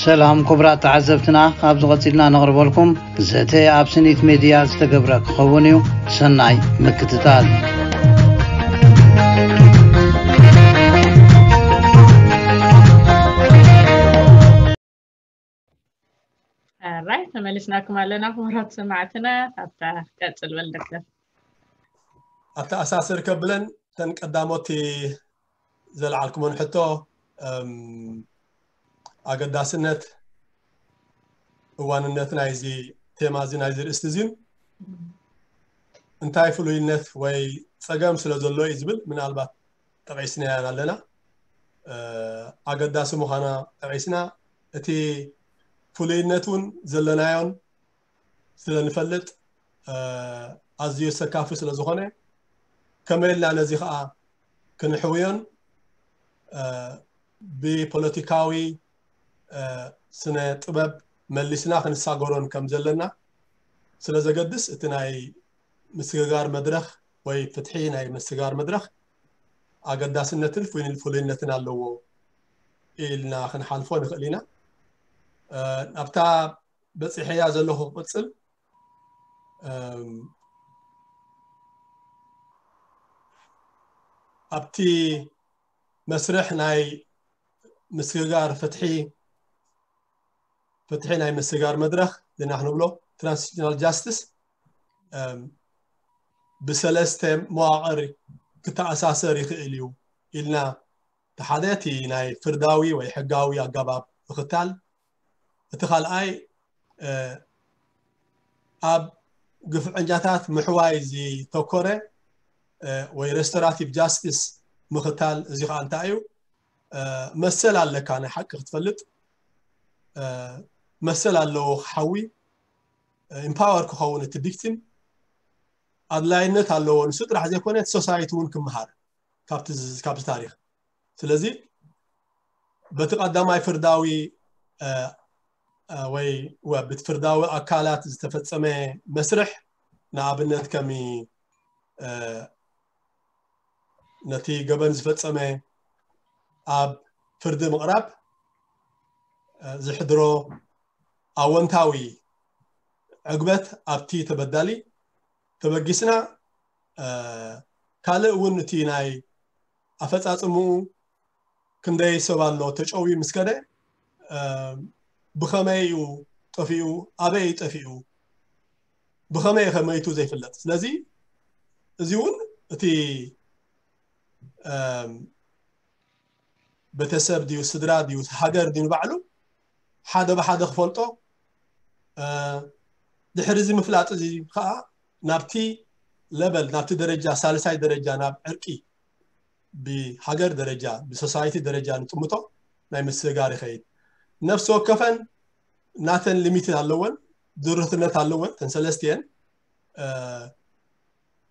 ሰላም ክቡራት ተዓዘብትና፣ ኣብዚ ቀጺልና ነቕርበልኩም ዘተ ኣብ ስኒት ሜድያ ዝተገብረ ክኸውን እዩ። ሰናይ ምክትታል። ራይ ተመሊስናኩም ኣለና ክቡራት ሰማዕትና። ኣብታ ቀጽል በል ዶክተር። ኣተኣሳስር ከብለን ተን ቀዳሞት ዘልዓልኩመን ሕቶ፣ እም፣ ኣገዳስነት፣ እዋንነት ናይዚ ቴማ እዚ፣ ናይዚ ርእስቲ እዚን እንታይ ፍሉይነት ወይ ጸገም ስለ ዘሎ እዩ ዝብል ምናልባት ጠቒስናያን ኣለና። እ፣ ኣገዳሲ ምዃና ጠቒስና፣ እቲ ፍሉይነት እውን ዘለናዮን ስለ ንፈልጥ፣ እ፣ ኣዝዩ ሰካፊ ስለ ዝኾነ፣ ከመይ ኢልና ነዚ ኸኣ ክንሕውዮን፣ እ፣ ብፖለቲካዊ፣ እ፣ ስነ ጥበብ መሊስና ክንሳገሮን ከም ዘለና ስለ ዘገድስ፣ እቲ ናይ ምስግጋር መድረኽ ወይ ፍትሒ ናይ ምስግጋር መድረኽ ኣገዳስነትን ፍሉይ-፣ ፍሉይነትን ኣለዎ ኢልና ክንሓልፎ ንኽእል ኢና። እ፣ ኣብታ በጺሐያ ዘለኹ ክቕጽል፣ እም፣ ኣብቲ መስርሕ ናይ ምስግጋር ፍትሒ፣ ፍትሒ ናይ ምስግጋር መድረኽ ዝና ክንብሎ ትራንዚሽናል ጃስቲስ፣ እም፣ ብሰለስተ መዋቕር ክተኣሳሰር ይኽእል እዩ ኢልና፣ እቲ ሓደ እቲ ናይ ፍርዳዊ ወይ ሕጋዊ ኣገባብ ምኽታል፣ እቲ ካልኣይ፣ እ፣ ኣብ ግፍዐኛታት ምሕዋይ ዝተኮረ፣ እ፣ ወይ ሬስቶራቲቭ ጃስቲስ ምኽታል። እዚ ኸኣ እንታይ እዩ? እ፣ መሰል ኣለካ ናይ ሓቂ ክትፈልጥ፣ እ፣ መሰል ኣለዎ ክሓዊ፣ እ፣ ኢምፓወር ክኸውን እቲ ቪክቲም ኣድላይነት ኣለዎ። ንሱ ጥራሕ ዘይኮነ እቲ ሶሳይቲ እውን ክመሃር ካብቲ ዝ-፣ ካብቲ ታሪኽ። ስለዚ በቲ ቀዳማይ ፍርዳዊ፣ እ፣ እ፣ ወይ ወ-፣ በቲ ፍርዳዊ ኣካላት ዝተፈጸመ መስርሕ፣ ንኣብነት ከም፣ እ፣ ነቲ ገበን ዝፈጸመ ኣብ ፍርዲ ምቕራብ፣ እ፣ ዝሕድሮ ኣወንታዊ ዕግበት ኣብቲ ተበዳሊ ተበጊስና፣ እ፣ ካልእ እውን እቲ ናይ ኣፈጻጽምኡ ክንደይ ሰብ ኣሎ ተጨውዩ ምስ ከደ፣ እ፣ ብኸመይ እዩ ጠፊኡ፣ ኣበይ እዩ ጠፊኡ፣ ብኸመይ እዩ ከመይቱ ዘይፍለጥ። ስለዚ እዚ እውን እቲ፣ እም፣ ቤተሰብ ድዩ፣ ስድራ ድዩ፣ ሃገር ድዩ ንባዕሉ ሓደ ብሓደ ክፈልጦ፣ እ፣ ድሕሪ እዚ ምፍላጥ እዚ ከዓ ናብቲ ለበል፣ ናብቲ ደረጃ፣ ሳልሳይ ደረጃ፣ ናብ ዕርቂ ብሃገር ደረጃ፣ ብሶሳይቲ ደረጃ ንጥምቶ ናይ ምስግጋር ይኸይድ። ነፍሲ ወከፈን ናተን ሊሚት ኣለወን፣ ድርትነት ኣለወን። ተን ሰለስቲአን፣ እ፣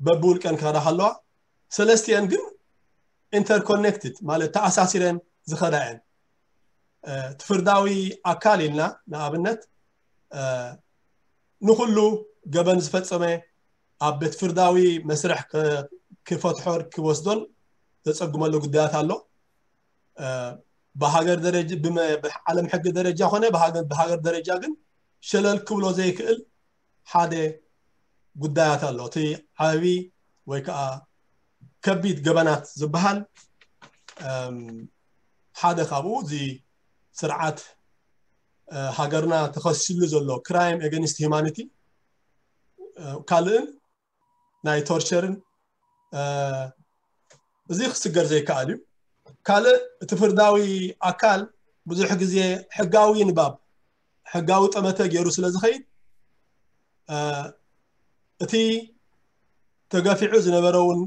በብውልቀን ክኸዳ ከለዋ፣ ሰለስቲአን ግን ኢንተርኮኔክትድ፣ ማለት ተኣሳሲረን ዝኸዳ እየን። እ፣ እቲ ፍርዳዊ ኣካል ኢልና ንኣብነት፣ እ፣ ንኹሉ ገበን ዝፈጸመ ኣብ ቤት ፍርዳዊ መስርሕ ክ-፣ ክፈትሖን ክወስዶን ዘጸግመሉ ጉዳያት ኣሎ። እ፣ ብሃገር ደረጃ፣ ብመ-፣ ብዓለም ሕጊ ደረጃ ኾነ ብሃገር፣ ብሃገር ደረጃ ግን ሸለል ክብሎ ዘይክእል ሓደ ጉዳያት ኣሎ። እቲ ዓቢ ወይ ከዓ ከቢድ ገበናት ዝበሃል፣ እም፣ ሓደ ካብኡ እዚ ስርዓት፣ እ፣ ሃገርና ተኸሲሉ ዘሎ ክራይም ኤገንስት ሂማኒቲ፣ እ፣ ካልእን ናይ ቶርቸርን፣ እ፣ እዚ ክስገር ዘይከኣል እዩ። ካልእ እቲ ፍርዳዊ ኣካል ብዙሕ ግዜ ሕጋዊ ንባብ፣ ሕጋዊ ጠመተ ገይሩ ስለ ዝኸይድ፣ እ፣ እቲ ተገፊዑ ዝነበረ እውን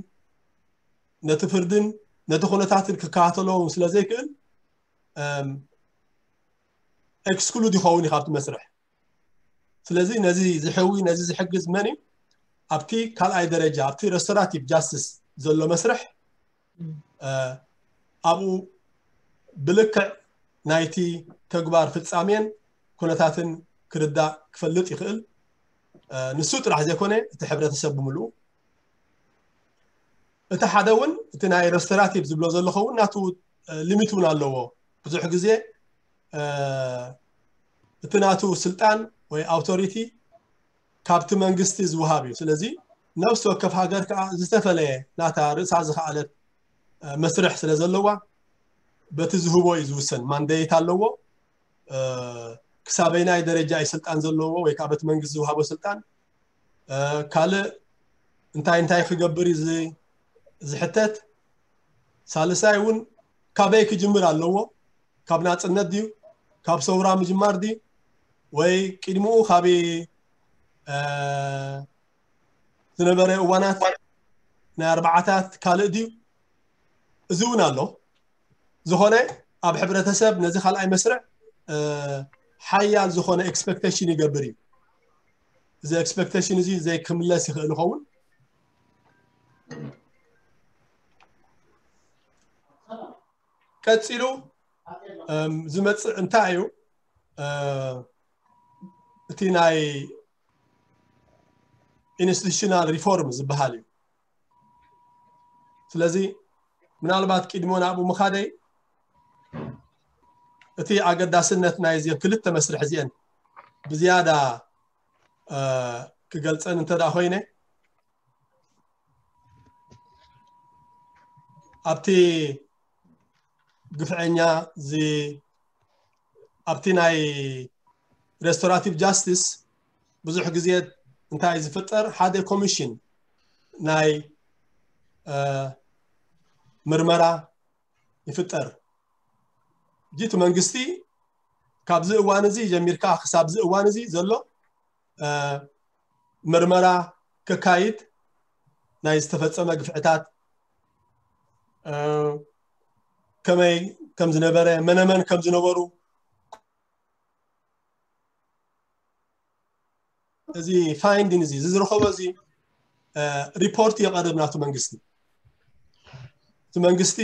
ነቲ ፍርድን ነቲ ኩነታትን ክከታተሎ እውን ስለ ዘይክእል፣ እም፣ ኤክስክሉድ ይኸውን እዩ ካብቲ መስርሕ። ስለዚ ነዚ ዝሕዊ፣ ነዚ ዝሕግዝ መን እዩ? ኣብቲ ካልኣይ ደረጃ፣ ኣብቲ ሬስቶራቲቭ ጃስቲስ ዘሎ መስርሕ፣ እ፣ ኣብኡ ብልክዕ ናይቲ ተግባር ፍጻሜን ኩነታትን ክርዳእ ክፈልጥ ይኽእል። እ፣ ንሱ ጥራሕ ዘይኮነ እቲ ሕብረተሰብ ብምልኡ። እቲ ሓደ እውን፣ እቲ ናይ ሬስቶራቲቭ ዝብሎ ዘለኹ እውን ናቱ፣ እ፣ ሊሚት እውን ኣለዎ። ብዙሕ ግዜ፣ እ፣ እቲ ናቱ ስልጣን ወይ ኣውቶሪቲ ካብቲ መንግስቲ ዝወሃብ እዩ። ስለዚ ነፍሲ ወከፍ ሃገር ከዓ ዝተፈለየ ናታ ርእሳ ዝኸኣለት መስርሕ ስለ ዘለዋ በቲ ዝህቦ እዩ ዝውሰን። ማንዴት ኣለዎ። ክሳበይናይ ደረጃ እዩ ስልጣን ዘለዎ ወይ ከዓ በቲ መንግስቲ ዝወሃቦ ስልጣን፣ ካልእ እንታይ እንታይ ክገብር እዩ ዝሕተት። ሳልሳይ እውን ካበይ ክጅምር ኣለዎ? ካብ ናፅነት ድዩ? ካብ ሰውራ ምጅማር ድዩ? ወይ ቅድሚኡ ካብ ዝነበረ እዋናት ናይ ኣርባዓታት ካልእ ድዩ? እዚ እውን ኣሎ። ዝኾነ ኣብ ሕብረተሰብ ነዚ ካልኣይ መስርዕ ሓያል ዝኾነ ኤክስፐክቴሽን ይገብር እዩ። እዚ ኤክስፐክቴሽን እዚ ዘይክምለስ ይኽእል ይኸውን። ቀፂሉ ዝመፅእ እንታይ እዩ? እቲ ናይ ኢንስቲቱሽናል ሪፎርም ዝበሃል እዩ። ስለዚ ምናልባት ቅድሞ ናብኡ ምኻደይ እቲ ኣገዳስነት ናይ እዚአን ክልተ መስርሕ እዚአን ብዝያዳ ክገልፀን እንተ ኮይነ፣ ኣብቲ ግፍዐኛ ኣብቲ ናይ ሬስቶራቲቭ ጃስቲስ ብዙሕ ግዜ እንታይ ዝፍጠር፣ ሓደ ኮሚሽን ናይ ምርመራ ይፍጠር። እቲ መንግስቲ ካብዚ እዋን እዚ ጀሚርካ ክሳብ እዚ እዋን እዚ ዘሎ ምርመራ ከካይድ፣ ናይ ዝተፈጸመ ግፍዕታት ከመይ ከም ዝነበረ፣ መነመን ከም ዝነበሩ፣ እዚ ፋይንዲን እዚ ዝረኸቦ እዚ ሪፖርት የቐርብ ናቱ መንግስቲ። እቲ መንግስቲ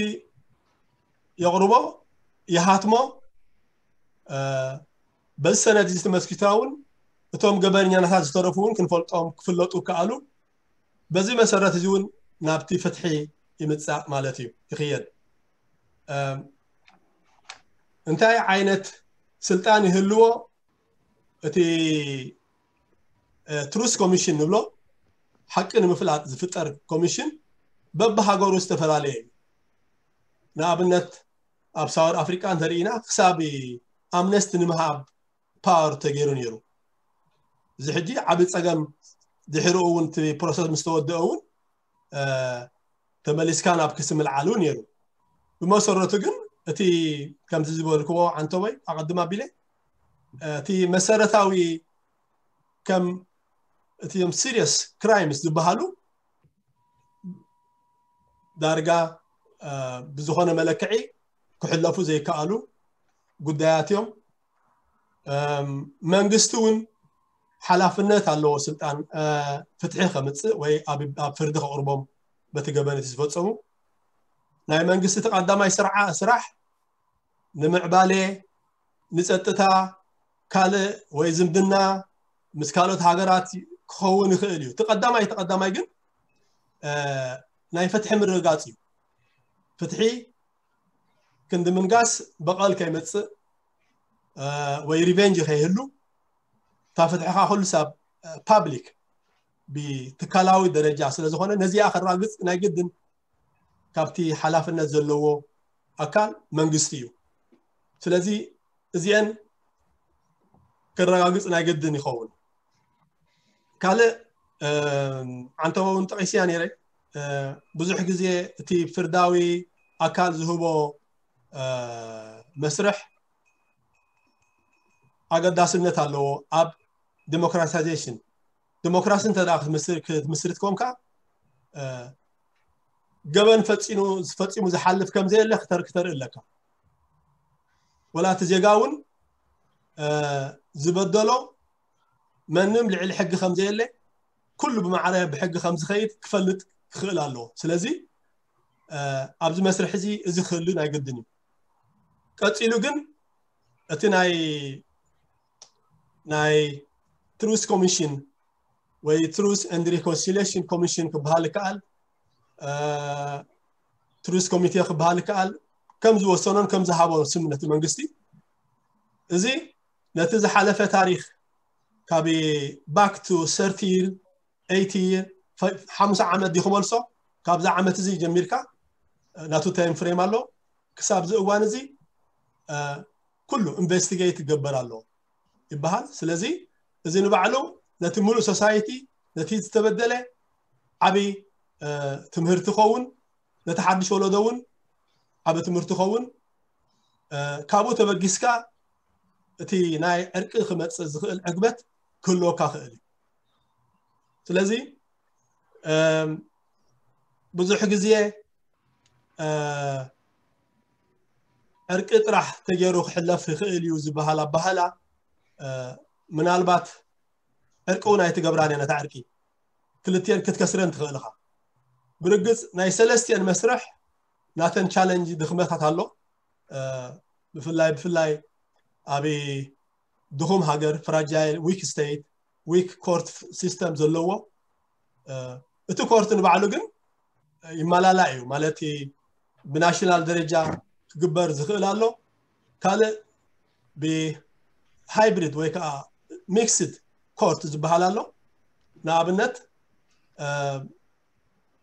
የቕርቦ፣ ይሃትሞ። በዚ ሰነድ እዚ ተመስኪታ እውን እቶም ገበነኛታት ዝተረፉ እውን ክንፈልጦም ክፍለጡ ከኣሉ። በዚ መሰረት እዚ እውን ናብቲ ፍትሒ ይምጻእ ማለት እዩ፣ ይኽየድ። እንታይ ዓይነት ስልጣን ይህልዎ? እቲ ትሩስ ኮሚሽን ንብሎ ሓቂ ንምፍላጥ ዝፍጠር ኮሚሽን በብሃገሩ ዝተፈላለየ እዩ። ንኣብነት ኣብ ሳውት ኣፍሪቃ እንተርኢና ክሳብ ኣምነስቲ ንምሃብ ፓወር ተገይሩ ነይሩ። እዚ ሕጂ ዓቢ ጸገም ድሕሪኡ እውን እቲ ፕሮሰስ ምስ ተወደአ እውን ተመሊስካ ናብ ክሲ ምልዓል እውን ነይሩ። ብመሰረቱ ግን እቲ ከምዚ ዝበልክዎ ዓንተቦይ ኣቐድም ኣቢለ እቲ መሰረታዊ ከም እቲም ሲሪየስ ክራይምስ ዝበሃሉ ዳርጋ ብዝኾነ መለክዒ ክሕለፉ ዘይከኣሉ ጉዳያት እዮም። መንግስቲ እውን ሓላፍነት ኣለዎ ስልጣን ፍትሒ ከምፅእ ወይ ኣብ ፍርዲ ከቕርቦም በቲ ገበን እቲ ዝፈፀሙ። ናይ መንግስቲ እቲ ቀዳማይ ስራሕ ንምዕባለ፣ ንፀጥታ፣ ካልእ ወይ ዝምድና ምስ ካልኦት ሃገራት ክኸውን ይኽእል እዩ። እቲ ቀዳማይ እቲ ቀዳማይ ግን ናይ ፍትሒ ምርግጋፅ እዩ። ፍትሒ ክንዲ ምንጋስ በቐል ከይመፅእ ወይ ሪቨንጅ ከይህሉ፣ እታ ፍትሒ ከዓ ኩሉ ሳብ ፓብሊክ ብትካላዊ ደረጃ ስለ ዝኾነ ነዚኣ ከራግፅ ናይ ግድን ካብቲ ሓላፍነት ዘለዎ ኣካል መንግስቲ እዩ። ስለዚ እዚአን ከረጋግፅ ናይ ግድን ይኸውን። ካልእ ዓንተቦ እውን ጠቒስያ ነይረ። ብዙሕ ግዜ እቲ ፍርዳዊ ኣካል ዝህቦ መስርሕ ኣገዳስነት ኣለዎ ኣብ ዲሞክራታይዜሽን። ዲሞክራሲ እንተ ክትምስርት ኮንካ ገበን ፈፂሙ ዝሓልፍ ከም ዘየለ ክተርኢ ኣለካ። ወላ እቲ ዜጋ እውን ዝበደሎ መንም ልዕሊ ሕጊ ከም ዘየለ፣ ኩሉ ብማዕረ ብሕጊ ከም ዝኸይድ ክፈልጥ ክኽእል ኣለዎ። ስለዚ ኣብዚ መስርሕ እዚ እዚ ክህሉ ናይ ግድን እዩ። ቀፂሉ ግን እቲ ናይ ናይ ትሩስ ኮሚሽን ወይ ትሩስ ኤንድ ሪኮንሲሌሽን ኮሚሽን ክበሃል ይከኣል፣ ትሩስ ኮሚቴ ክበሃል ይከኣል፣ ከም ዝወሰኖን ከም ዝሃቦ ስምነት መንግስቲ እዚ ነቲ ዝሓለፈ ታሪኽ ካብ back to thirty year, eighty year, ሓሙሳ ዓመት ዲኹ መልሶ፣ ካብዛ ዓመት እዚ ጀሚርካ ናቱ time frame ኣሎ። ክሳብ እዚ እዋን እዚ ኩሉ ኢንቨስቲጌት ይገበር ኣሎ ይበሃል። ስለዚ እዚ ንባዕሉ ነቲ ሙሉእ ሶሳይቲ፣ ነቲ ዝተበደለ ዓቢ ትምህርቲ ኸውን፣ ነቲ ሓድሽ ወለዶ እውን ዓቢ ትምህርቲ ኸውን። ካብኡ ተበጊስካ እቲ ናይ ዕርቂ ክመጽእ ዝኽእል ዕግበት ክህልወካ ክእል እዩ። ስለዚ ብዙሕ ግዜ ዕርቂ ጥራሕ ተገይሩ ክሕለፍ ይኽእል እዩ ዝበሃል ኣባህላ ምናልባት ዕርቂ እውን ኣይትገብራን እያ። ነታ ዕርቂ ክልቲኤን ክትከስረን ትኽእል ኢኻ። ብርግጽ ናይ ሰለስቲኤን መስርሕ ናተን ቻለንጅ ድኽመታት ኣሎ። ብፍላይ ብፍላይ ኣብ ድኹም ሃገር፣ ፍራጃይል፣ ዊክ ስቴት፣ ዊክ ኮርት ሲስተም ዘለዎ፣ እቲ ኮርት ንባዕሉ ግን ይመላላእ እዩ። ማለት ብናሽናል ደረጃ ክግበር ዝኽእል ኣሎ። ካልእ ብሃይብሪድ ወይ ከዓ ሚክስድ ኮርት ዝበሃል ኣሎ። ንኣብነት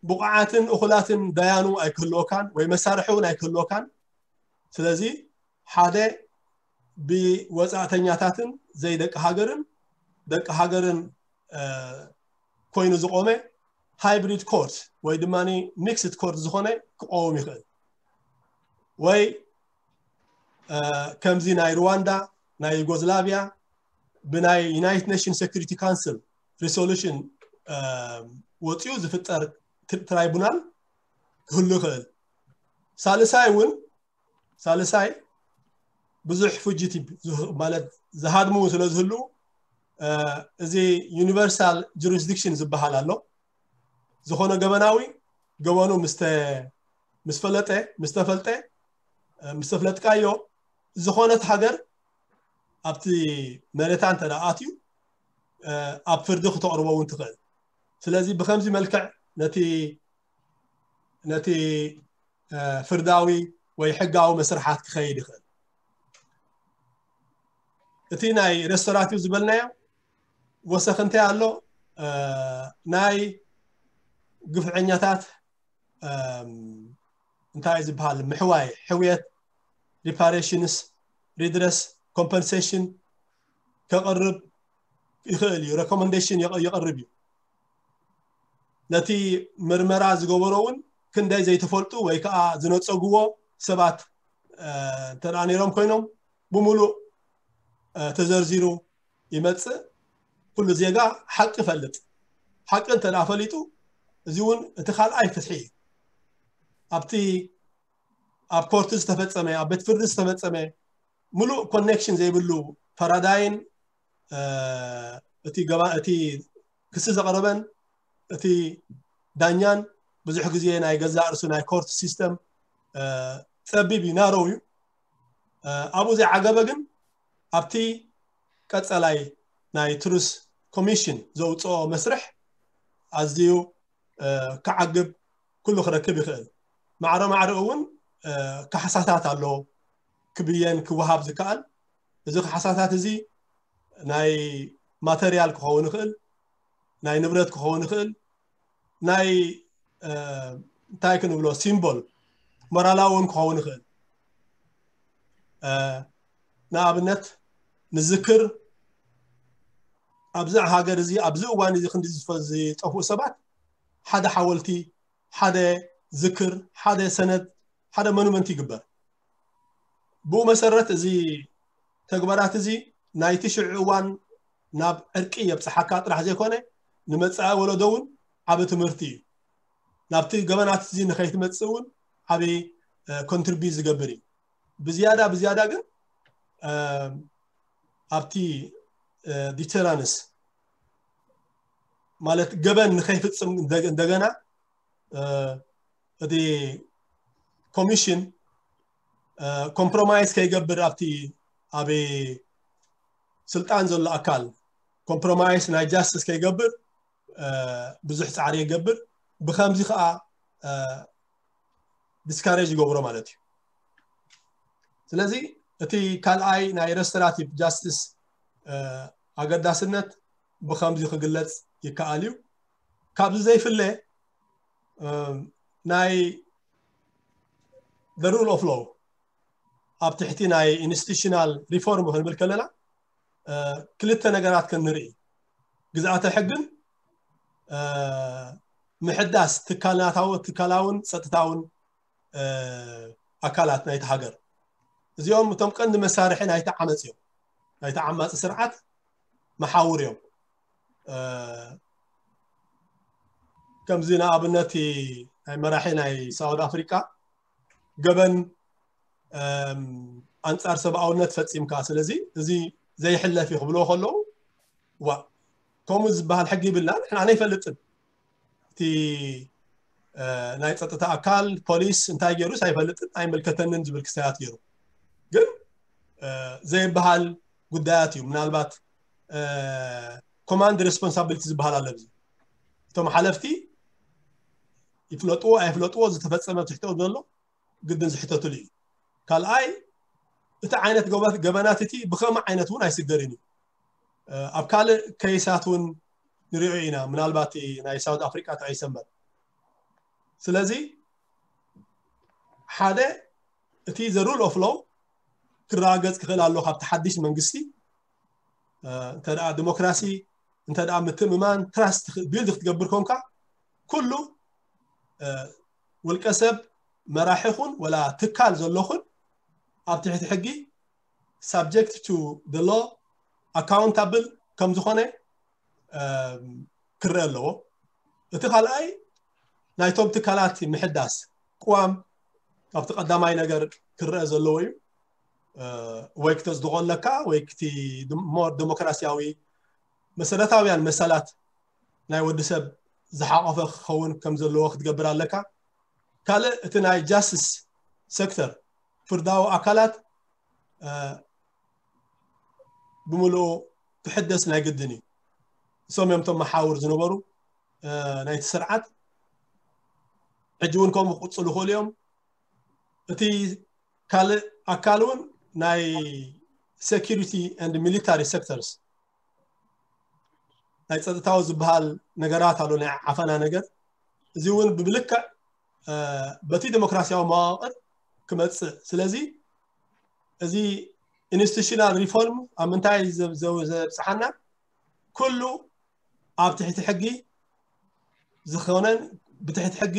ብቑዓትን እኹላትን ዳያኑ ኣይክህልወካን ወይ መሳርሒ እውን ኣይክህልወካን። ስለዚ ሓደ ብወፃእተኛታትን ዘይደቂ ሃገርን ደቂ ሃገርን ኮይኑ ዝቆመ ሃይብሪድ ኮርት ወይ ድማ ሚክስድ ኮርት ዝኾነ ክቆውም ይኽእል። ወይ ከምዚ ናይ ሩዋንዳ፣ ናይ ዩጎዝላቪያ ብናይ ዩናይትድ ኔሽን ሴኩሪቲ ካውንስል ሪሶሉሽን ወፂኡ ዝፍጠር ትራይቡናል ክህሉ ይኽእል። ሳልሳይ እውን ሳልሳይ ብዙሕ ፉጂቲቭ ማለት ዝሃድሙ ስለ ዝህሉ እዚ ዩኒቨርሳል ጁሪስዲክሽን ዝበሃል ኣሎ። ዝኾነ ገበናዊ ገበኑ ምስ ፈለጠ ምስ ተፈልጠ ምስ ተፍለጥካዮ ዝኾነት ሃገር ኣብቲ መሬታ እንተ ኣትዩ ኣብ ፍርዲ ክተቕርቦ እውን ትኽእል። ስለዚ ብከምዚ መልክዕ ነቲ ነቲ ፍርዳዊ ወይ ሕጋዊ መስርሓት ክኸይድ ይኽእል። እቲ ናይ ሬስቶራቲቭ ዝበልናዮ ወሰኽ እንታይ ኣሎ? ናይ ግፍዐኛታት እንታይ ዝበሃል ምሕዋይ፣ ሕውየት፣ ሪፓሬሽንስ፣ ሪድረስ፣ ኮምፐንሴሽን ከቕርብ ይኽእል እዩ። ሬኮመንዴሽን የቕርብ እዩ። ነቲ ምርመራ ዝገበሮ እውን ክንደይ ዘይተፈልጡ ወይ ከዓ ዝነፀግዎ ሰባት እንተ ነይሮም ኮይኖም ብምሉእ ተዘርዚሩ ይመፅእ። ኩሉ ዜጋ ሓቂ ይፈልጥ። ሓቂ እንተ ፈሊጡ እዚ እውን እቲ ካልኣይ ፍትሒ እዩ። ኣብቲ ኣብ ኮርት ዝተፈፀመ ኣብ ቤት ፍርዲ ዝተፈፀመ ሙሉእ ኮኔክሽን ዘይብሉ ፈራዳይን እቲ ገባ እቲ ክሲ ዘቕረበን እቲ ዳኛን ብዙሕ ግዜ ናይ ገዛእ ርእሱ ናይ ኮርት ሲስተም ፀቢብ እዩ፣ ናሮው እዩ። ኣብኡ ዘይዓገበ ግን ኣብቲ ቀፀላይ ናይ ትሩስ ኮሚሽን ዘውፅኦ መስርሕ ኣዝዩ ክዓግብ ኩሉ ክረክብ ይኽእል። ማዕረ ማዕረ እውን ካሕሳታት ኣሎ ክብየን ክወሃብ ዝከኣል። እዚ ካሕሳታት እዚ ናይ ማተርያል ክኸውን ይኽእል፣ ናይ ንብረት ክኸውን ይኽእል፣ ናይ እንታይ ክንብሎ ሲምቦል ሞራላዊ እውን ክኸውን ይኽእል። ንኣብነት ንዝክር ኣብዚ ሃገር እዚ ኣብዚ እዋን እዚ ክንዲ ዝጠፍኡ ሰባት ሓደ ሓወልቲ፣ ሓደ ዝክር፣ ሓደ ሰነድ፣ ሓደ ሞኑመንት ይግበር። ብኡ መሰረት እዚ ተግባራት እዚ ናይቲ ሽዑ እዋን ናብ ዕርቂ የብፅሓካ ጥራሕ ዘይኮነ ንመፃኢ ወለዶ እውን ዓቢ ትምህርቲ እዩ። ናብቲ ገበናት እዚ ንኸይትመፅእ እውን ዓቢ ኮንትሪቢዩት ዝገብር እዩ። ብዝያዳ ብዝያዳ ግን ኣብቲ ዲተራንስ ማለት ገበን ንኸይፍፅም እንደገና እቲ ኮሚሽን ኮምፕሮማይዝ ከይገብር ኣብቲ ኣብ ስልጣን ዘሎ ኣካል ኮምፕሮማይዝ ናይ ጃስቲስ ከይገብር ብዙሕ ፃዕሪ ይገብር። ብከምዚ ከዓ ዲስካሬጅ ይገብሮ ማለት እዩ። ስለዚ እቲ ካልኣይ ናይ ሬስቶራቲቭ ጃስቲስ ኣገዳስነት ብከምዚ ክግለፅ ይከኣል እዩ። ካብዚ ዘይፍለ ናይ rule of law ኣብ ትሕቲ ናይ institutional reform ክንብል ከለና ክልተ ነገራት ክንርኢ፣ ግዝኣተ ሕግን ምሕዳስ ትካላታዊ ትካላውን ጸጥታውን ኣካላት ናይቲ ሃገር። እዚኦም እቶም ቀንዲ መሳርሒ ናይቲ ዓመፅ እዮም። ናይቲ ዓማፂ ስርዓት መሓውር እዮም። ከምዚ ንኣብነት ናይ መራሒ ናይ ሳውት ኣፍሪቃ ገበን ኣንፃር ሰብኣውነት ፈፂምካ፣ ስለዚ እዚ ዘይሕለፍ እዩ ክብልዎ ከለዉ፣ ዋ፣ ከምኡ ዝበሃል ሕጊ ይብልና፣ ንሕና ኣይፈልጥን። እቲ ናይ ፀጥታ ኣካል ፖሊስ እንታይ ገይሩስ ኣይፈልጥን፣ ኣይመልከተንን ዝብል ክስታያት ገይሩ። ግን ዘይበሃል ጉዳያት እዩ። ምናልባት command responsibility ዝበሃል ኣሎ። እዚ እቶም ሓለፍቲ ይፍለጥዎ ኣይፍለጥዎ ዝተፈፀመ ትሕቶ ዘሎ ግድን ዝሕተትሉ እዩ። ካልኣይ፣ እቲ ዓይነት ገበናት እቲ ብኸመ ዓይነት እውን ኣይስገርን እዩ። ኣብ ካልእ ከይሳት እውን ንሪኦ ኢና፣ ምናልባት ናይ ሳውት ኣፍሪቃ ተቐይሰ እምበር። ስለዚ ሓደ እቲ rule of law ክረጋገፅ ክኽእል ኣሎ ካብቲ ሓድሽ መንግስቲ። እንተ ደኣ ዲሞክራሲ፣ እንተ ደኣ ምትእምማን፣ ትራስት ቢልድ ክትገብር ኮንካ፣ ኩሉ ውልቀ ሰብ መራሒ ኹን ወላ ትካል ዘሎ ኹን ኣብ ትሕቲ ሕጊ subject to the law፣ accountable ከም ዝኾነ ክረአ ኣለዎ። እቲ ካልኣይ ናይቶም ትካላት ምሕዳስ ቅዋም ካብቲ ቀዳማይ ነገር ክረአ ዘለዎ እዩ። ወይ ክተጽድቖ ኣለካ ወይ ክቲ ሞር ዲሞክራሲያዊ መሰረታውያን መሰላት ናይ ወዲ ሰብ ዝሓቆፈ ክኸውን ከም ዘለዎ ክትገብር ኣለካ። ካልእ እቲ ናይ ጃስቲስ ሴክተር ፍርዳዊ ኣካላት ብምልኡ ክሕደስ ናይ ግድን እዩ። እሶም እዮም እቶም መሓውር ዝነበሩ ናይቲ ስርዓት። ሕጂ እውን ከምኡ ክቕፅሉ ይኽእሉ እዮም። እቲ ካልእ ኣካል እውን ናይ security and military sectors ናይ ፀጥታዊ ዝበሃል ነገራት ኣሎ፣ ናይ ዓፈና ነገር። እዚ እውን ብብልክዕ በቲ ዲሞክራሲያዊ መዋቕር ክመፅእ። ስለዚ እዚ institutional reform ኣብ ምንታይ ዘብፅሓና? ኩሉ ኣብ ትሕቲ ሕጊ ዝኾነን ብትሕቲ ሕጊ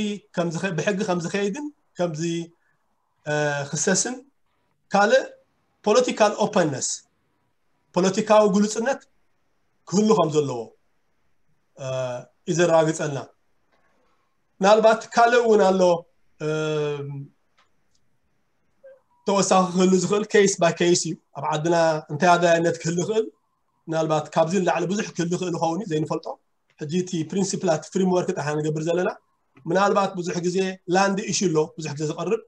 ብሕጊ ከም ዝኸይድን ከም ዝኽሰስን ካልእ political openness፣ ፖለቲካዊ ግሉፅነት ክህሉ ከም ዘለዎ እዩ ዘረጋግፀልና። ምናልባት ካልእ እውን ኣሎ ተወሳኺ ክህሉ ዝኽእል፣ case by case እዩ። ኣብ ዓድና እንታይ ኣድላይነት ክህሉ ይኽእል፣ ምናልባት ካብዚ ንላዕሊ ብዙሕ ክህሉ ይኽእል ይኸውን እዩ ዘይንፈልጦ። ሕጂ እቲ ፕሪንሲፕላት ፍሪምወርክ ጥራሕ ንገብር ዘለና። ምናልባት ብዙሕ ግዜ ላንድ ኢሹ ኣሎ ብዙሕ ግዜ ዝቐርብ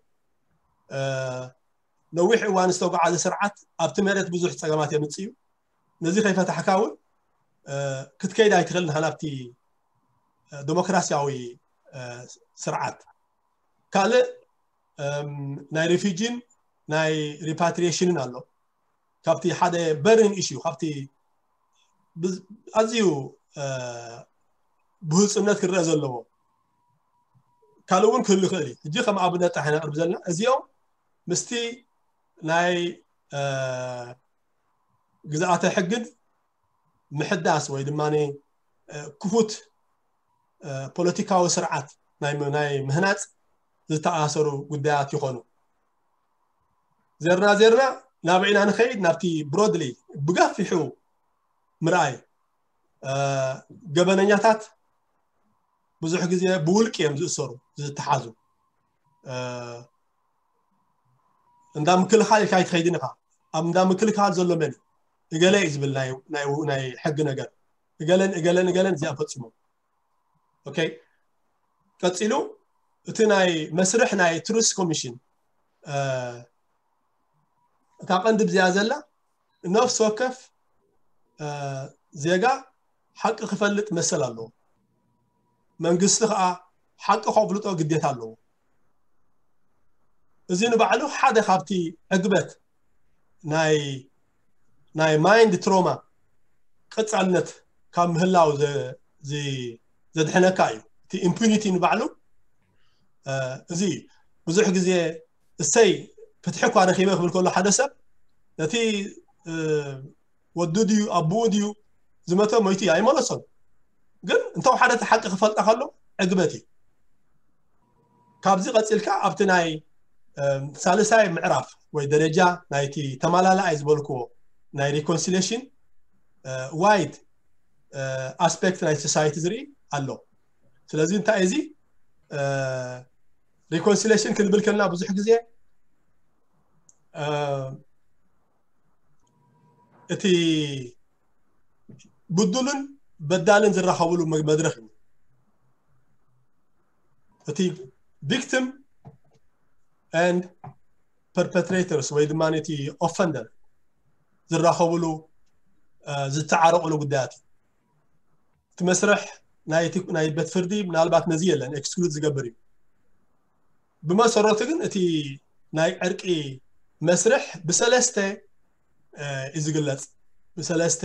ነዊሕ እዋን ዝተጓዓዘ ስርዓት ኣብቲ መሬት ብዙሕ ፀገማት የምፅእ እዩ። ነዚ ከይፈታሕካ እውን ክትከይድ ኣይትኽእል ንኻ ናብቲ ዲሞክራሲያዊ ስርዓት። ካልእ ናይ ሪፊጂን ናይ ሪፓትሪሽንን ኣሎ። ካብቲ ሓደ በርን ኢሹ ካብቲ ኣዝዩ ብህፁነት ክረአ ዘለዎ ካልእ እውን ክህሉ ይኽእል እዩ። ሕጂ ከም ኣብነት ጥራሕ ነቕርብ ዘለና እዚኦም ምስቲ ናይ ግዝኣተ ሕግን ምሕዳስ ወይ ድማ ክፉት ፖለቲካዊ ስርዓት ናይ ምህናፅ ዝተኣሰሩ ጉዳያት ይኾኑ። ዜርና ዜርና ናብ ኢና ንኸይድ ናብቲ ብሮድሊ ብገፊሑ ምርኣይ ገበነኛታት ብዙሕ ግዜ ብውልቂ እዮም ዝእሰሩ ዝተሓዙ። እንዳ ምክልኻል ኢልካ ኣይትኸይድን ኢኻ። ኣብ እንዳ ምክልኻል ዘሎ መን እገለ እዩ ዝብል ናይ ሕጊ ነገር እገለን እገለን እገለን እዚኣ ፈፂሞም። ኦኬ፣ ቀፂሉ እቲ ናይ መስርሕ ናይ ትሩስ ኮሚሽን እታ ቀንዲ ብዚኣ ዘላ ነፍሲ ወከፍ ዜጋ ሓቂ ክፈልጥ መሰል ኣለዎ። መንግስቲ ከዓ ሓቂ ከፍልጦ ግዴታ ኣለዎ። እዚ ንባዕሉ ሓደ ካብቲ ዕግበት ናይ ናይ mind trauma ቀጻልነት ካብ ምህላው ዘድሕነካ እዩ። እቲ impunity ንባዕሉ እዚ ብዙሕ ግዜ እሰይ ፍትሒ እኳ ረኺበ ክብል ከሎ ሓደ ሰብ ነቲ ወዱ ድዩ ኣቦኡ ድዩ ዝመተ ሞይቱ እዩ ኣይመለሶን። ግን እንተው ሓደ እቲ ሓቂ ክፈልጣ ከሎ ዕግበት እዩ። ካብዚ ቀፂልካ ኣብቲ ናይ ሳልሳይ ምዕራፍ ወይ ደረጃ ናይቲ ተማላላኣይ ዝበልክዎ ናይ reconciliation wide aspect ናይ society ዝርኢ ኣሎ። ስለዚ እንታይ እዚ reconciliation ክንብል ከልና ብዙሕ ግዜ እቲ ብዱልን በዳልን ዝራኸብሉ መድረኽ እዩ። እቲ victim and perpetrators ወይ ድማ እቲ offender ዝራኸብሉ ዝተዓረቕሉ ጉዳያት እዩ። እቲ መስርሕ ናይ ቤት ፍርዲ ምናልባት ነዚ የለን exclude ዝገብር እዩ። ብመሰረቱ ግን እቲ ናይ ዕርቂ መስርሕ ብሰለስተ እዩ ዝግለፅ። ብሰለስተ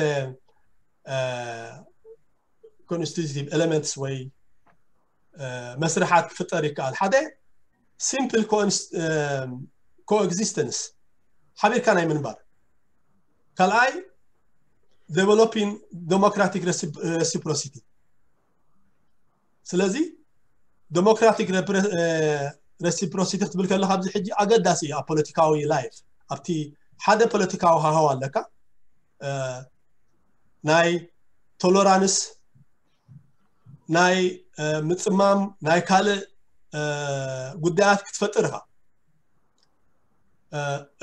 constitutive elements ወይ መስርሓት ክፍጠር ይከኣል። ሓደ simple coexistence ሓቢርካ ናይ ምንባር፣ ካልኣይ developing democratic reciprocity። ስለዚ democratic reciprocity ክትብል ከለካ ኣብዚ ሕጂ ኣገዳሲ እዩ ኣብ ፖለቲካዊ life። ኣብቲ ሓደ ፖለቲካዊ ሃዋው ኣለካ ናይ tolerance ናይ ምፅማም ናይ ካልእ ጉዳያት ክትፈጥር ኢኻ።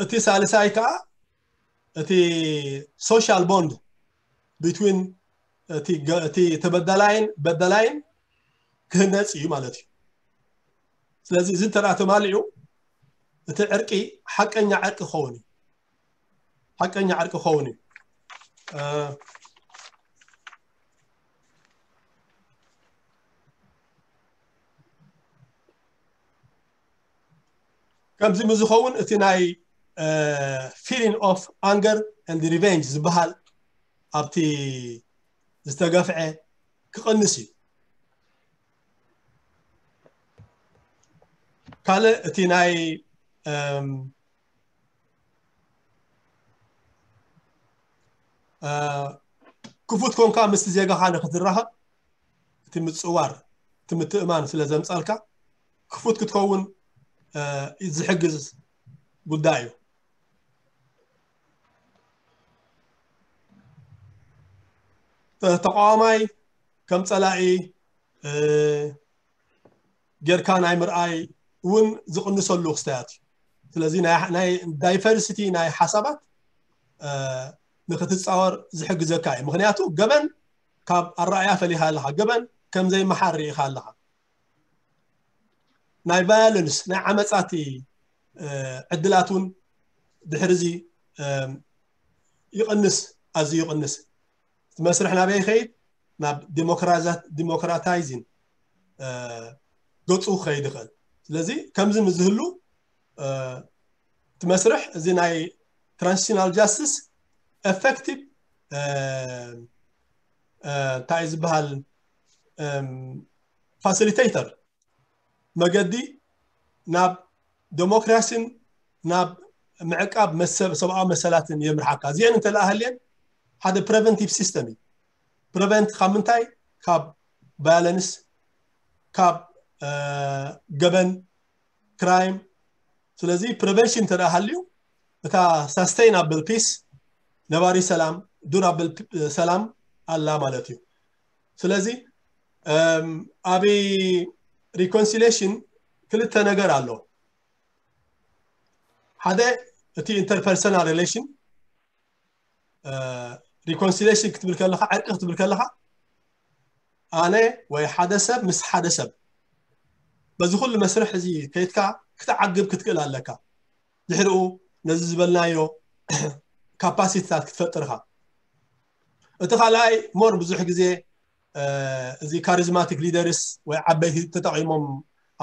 እቲ ሳልሳይ ከዓ እቲ social bond between እቲ ተበዳላይን በዳላይን ክህነፅ እዩ ማለት እዩ። ስለዚ እዚ እንተ ተማሊኡ እቲ ዕርቂ ሓቀኛ ዕርቂ ክኸውን እዩ። ሓቀኛ ዕርቂ ክኸውን እዩ። ከምዚ ምስ ዝኸውን እቲ ናይ feeling of anger and revenge ዝበሃል ኣብቲ ዝተገፍዐ ክቕንስ እዩ። ካልእ እቲ ናይ ክፉት ኮንካ ምስቲ ዜጋኻ ንክትራኸብ እቲ ምፅዋር እቲ ምትእማን ስለ ዘምፃልካ ክፉት ክትከውን ዝሕግዝ ጉዳይ እዩ። ተቃዋማይ ከም ፀላኢ ጌርካ ናይ ምርኣይ እውን ዝቕንሰሉ ክስተያት እዩ። ስለዚ ናይ diversity ናይ ሓሳባት ንክትፃወር ዝሕግዘካ እዩ። ምክንያቱ ገበን ካብ ኣረኣያ ፈሊኻ ኣለካ፣ ገበን ከም ዘይመሓር ርኢኻ ኣለካ። ናይ violence ናይ ዓመፃቲ ዕድላት እውን ድሕርዚ ይቕንስ፣ ኣዝዩ ይቕንስ። እቲ መስርሕ ናበይ ይኸይድ? ናብ democratizing ገፁ ክኸይድ ይኽእል። ስለዚ ከምዚ ምስ ዝህሉ እቲ መስርሕ እዚ ናይ transitional justice effective እንታይ ዝበሃል facilitator መገዲ ናብ ዴሞክራሲን ናብ ምዕቃብ ሰብኣዊ መሰላትን የምርሓካ። እዚአን እንተለኣሃልየን ሓደ preventive system እዩ። Prevent ካብ ምንታይ? ካብ violence፣ ካብ ገበን፣ crime። ስለዚ prevention እንተ ሃልዩ እታ sustainable peace፣ ነባሪ ሰላም፣ durable ሰላም ኣላ ማለት እዩ። ስለዚ ኣብ reconciliation ክልተ ነገር ኣሎ። ሓደ እቲ interpersonal relation፣ reconciliation ክትብል ከለካ፣ ዕርቂ ክትብል ከለካ ኣነ ወይ ሓደ ሰብ ምስ ሓደ ሰብ በዚ ኩሉ መስርሕ እዚ ከይድካ ክትዓግብ ክትክእል ኣለካ። ድሕሪኡ ነዚ ዝበልናዮ capacity ታት ክትፈጥር ኢኻ። እቲ ካልኣይ more ብዙሕ ግዜ እዚ charismatic leaders ወይ ዓበይቲ ተጠቒሞም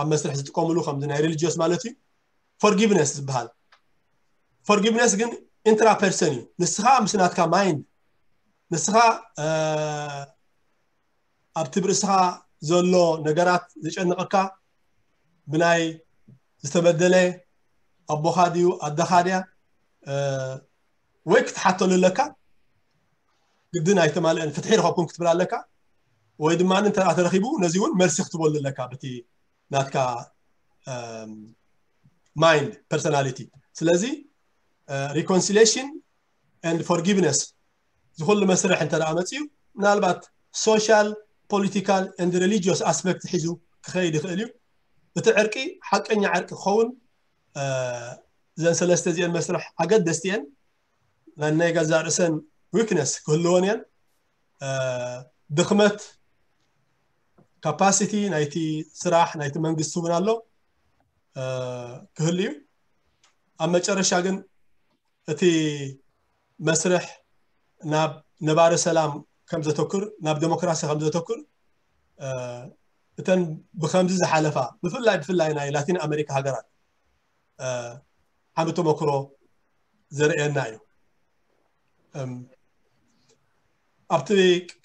ኣብ መስርሕ ዝጥቀምሉ ከምዚ ናይ religious ማለት እዩ forgiveness ዝበሃል። Forgiveness ግን ኢንትራፐርሰን እዩ። ንስኻ ምስ ናትካ ማይንድ፣ ንስኻ ኣብቲ ብርእስኻ ዘሎ ነገራት ዘጨንቐካ፣ ብናይ ዝተበደለ ኣቦኻ ድዩ ኣደኻ ድያ ወይ ክትሓተሉ ኣለካ። ግድን ኣይተማልአን ፍትሒ ረኸብኩም ክትብል ኣለካ። ወይ ድማ እንተ ተረኺቡ ነዚ እውን መልሲ ክትበሉ ኣለካ ብቲ ናትካ ማይንድ ፐርሶናሊቲ። ስለዚ ሪኮንሲሌሽን ኤንድ ፎርጊቭነስ ዝኩሉ መስርሕ እንተ ደኣ መፅዩ፣ ምናልባት ሶሻል፣ ፖለቲካል ኤንድ ሪሊጂዮስ ኣስፔክት ሒዙ ክኸይድ ይኽእል እዩ። እቲ ዕርቂ ሓቀኛ ዕርቂ ክኸውን እዘን ሰለስተ እዚአን መስርሕ ኣገደስቲ እየን። ናይ ገዛ ርእሰን ዊክነስ ክህልወን እየን። ድኽመት ካፓሲቲ ናይቲ ስራሕ ናይቲ መንግስቲ እውን ኣሎ ክህሉ እዩ። ኣብ መጨረሻ ግን እቲ መስርሕ ናብ ነባሪ ሰላም ከም ዘተኩር፣ ናብ ዴሞክራሲ ከም ዘተኩር፣ እተን ብከምዚ ዝሓለፋ ብፍላይ ብፍላይ ናይ ላቲን ኣሜሪካ ሃገራት ዓሚ ተመክሮ ዘርእየና እዩ። ኣብቲ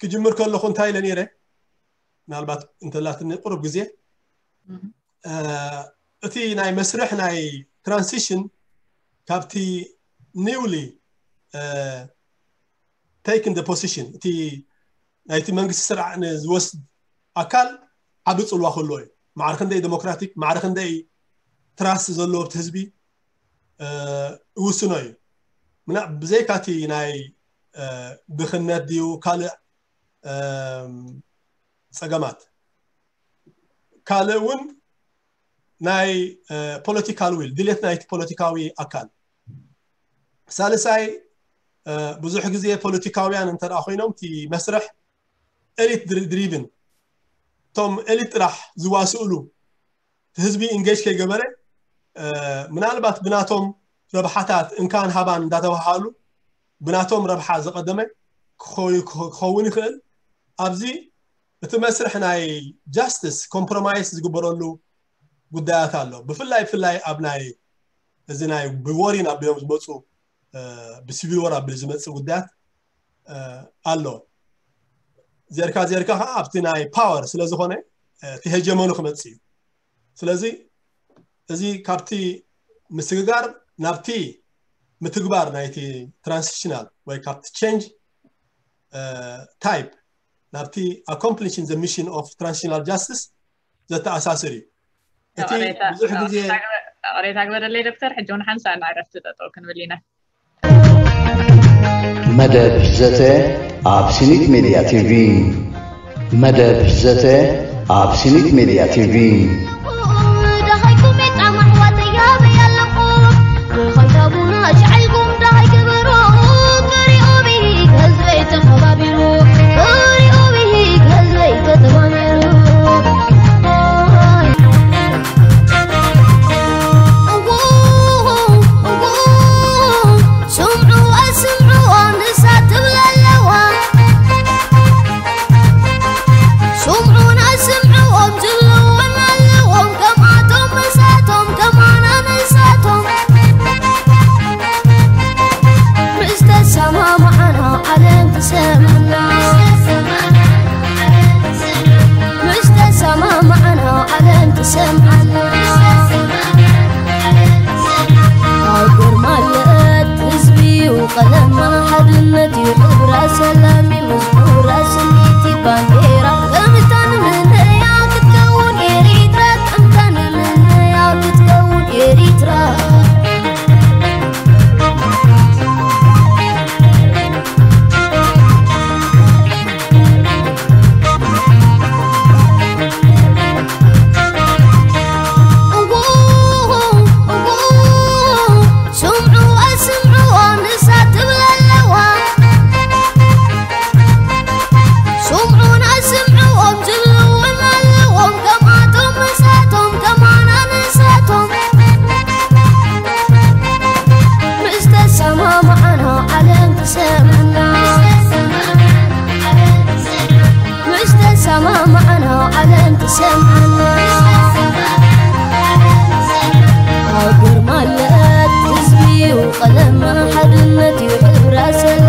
ክጅምር ከለኹ እንታይ ኢለ ነይረ? ምናልባት እንተላትኒ ቁሩብ ግዜ እቲ ናይ መስርሕ ናይ ትራንሲሽን ካብቲ ኒውሊ ቴክን ፖሲሽን እቲ ናይቲ መንግስቲ ስርዓት ንዝወስድ ኣካል ዓቢ ፅልዋ ክህልዎ እዩ። ማዕረ ክንደይ ዴሞክራቲክ፣ ማዕረ ክንደይ ትራስት ዘለዎ ኣብቲ ህዝቢ ይውስኖ እዩ። ብዘይካቲ ናይ ድኽነት ድዩ ካልእ ፀገማት፣ ካልእ እውን ናይ ፖለቲካል ዊል፣ ድሌት ናይቲ ፖለቲካዊ ኣካል። ሳልሳይ ብዙሕ ግዜ ፖለቲካውያን እንተ ኮይኖም እቲ መስርሕ ኤሊት ድሪቭን፣ እቶም ኤሊት ጥራሕ ዝዋስእሉ ህዝቢ ኢንጌጅ ከይገበረ ምናልባት ብናቶም ረብሓታት እንካን ሃባን እንዳተባሃሉ ብናቶም ረብሓ ዝቐደመ ክኸውን ይኽእል። ኣብዚ እቲ መስርሕ ናይ ጃስትስ ኮምፕሮማይስ ዝግበረሉ ጉዳያት ኣሎ። ብፍላይ ብፍላይ ኣብ ናይ እዚ ናይ ብወሪን ኣቢሎም ዝመፁ ብሲቪል ወር ኣቢሉ ዝመፅእ ጉዳያት ኣሎ። ዘርካ ዘርካ ከዓ ኣብቲ ናይ ፓወር ስለዝኾነ እቲ ሄጀሞኒ ክመፅእ እዩ። ስለዚ እዚ ካብቲ ምስግጋር ናብቲ ምትግባር ናይቲ ትራንሲሽናል ወይ ካብቲ ቼንጅ ታይፕ ናብቲ ኣኮምፕሊሽን ዘ ሚሽን ኦፍ ትራንሲሽናል ጃስቲስ ዘተኣሳስር እዩ። እቲ ብዙሕ ግዜ ቅሬታ ግበረለይ ዶክተር፣ ሕጂ እውን ሓንሳእ ንዕረፍቲ ጠጠው ክንብል ኢና። መደብ ዘተ ኣብ ሲኒት ሜድያ ቲቪ። መደብ ዘተ ኣብ ሲኒት ሜድያ ቲቪ። ሓድነት እዩ ሕብረ ሰላም።